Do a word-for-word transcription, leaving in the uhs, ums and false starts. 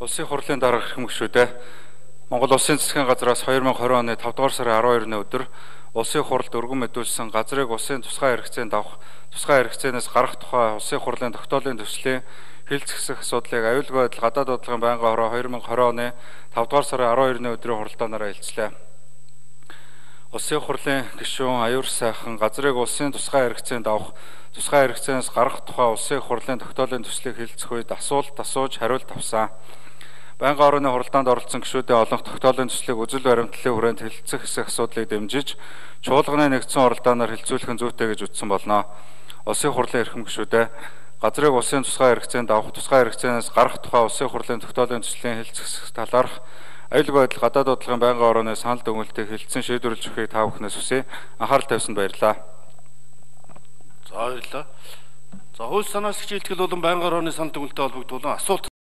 Улсын хурлын дарга хүмүүшүүдээ Монгол Улсын засгийн газраас two thousand twenty оны five дугаар сарын twelve-ны өдөр улсын хуралд өргөн мэдүүлсэн газрыг улсын тусгай хэрэгцээнд авах, тусгай хэрэгцээнээс гарах тухай улсын хурлын тогтоолын төслийн хэлцэх асуудлыг аюулгүй байдал гадаад бодлогын байнгын хороо two thousand twenty оны five дугаар сарын twelve-ны өдрийн хуралдаанаараа хэлцлээ. Улсын хурлын гишүүн аюур сайхан газрыг улсын тусгай хэрэгцээнд авах, тусгай хэрэгцээнээс гарах тухай улсын хурлын тогтоолын төслийг хэлцэх үед асуулт асууж хариулт авсан. Байнгын хорооны хуралдаанд оролцсон гишүүдийн олонх тогтоолын төслийг үзэл баримтлалын хүрээнд хэлэлцэх хэсэг асуудлыг дэмжиж, чуулганы нэгдсэн оролдооноор хэлцүүлэх нь зүйтэй гэж үзсэн болно. Улсын хурлын эрхэм гишүүдээ газрыг улсын тусгай хэрэгцээнд авах, тусгай хэрэгцээнээс гарах тухай улсын хурлын тогтоолын төслийн хэлцэх талаарх аюулгүй байдал гадаад бодлогын байнгын хорооны санал дүгнэлтийг хэлэлцэн шийдвэрлэж өгөхийг та бүхнээс хүсье. Анхаарал тавьсанд баярлалаа. За баярлалаа. За хууль санаачлагчийн илтгэл болон байнгын хорооны санал дүгнэлтэд холбогдуулан асуулт